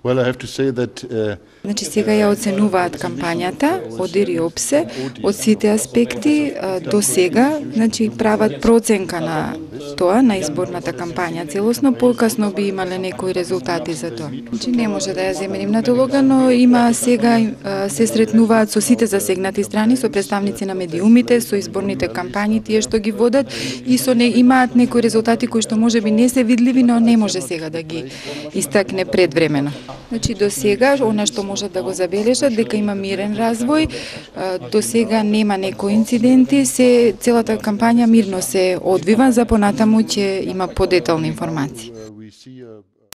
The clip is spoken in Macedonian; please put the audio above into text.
Well, I have to say that Значи сега ја оценуваат кампањата, одир и опсе, од сите аспекти до сега, значи прават проценка на тоа, на изборната кампања целосно, покасно би имале некои резултати за тоа. Значи не може да ја земе нивната улога, но има сега се сретнуваат со сите засегнати страни, со представници на медиумите, со изборните кампањи, тие што ги водат и со не имаат некои резултати кои што можеби не се видливи, но не може сега да ги истакне предвремено. Значи до сега она што можат да го забележат дека има мирен развој, до сега нема некои инциденти, целата кампања мирно се одвива, за понатаму ќе има подетални информации.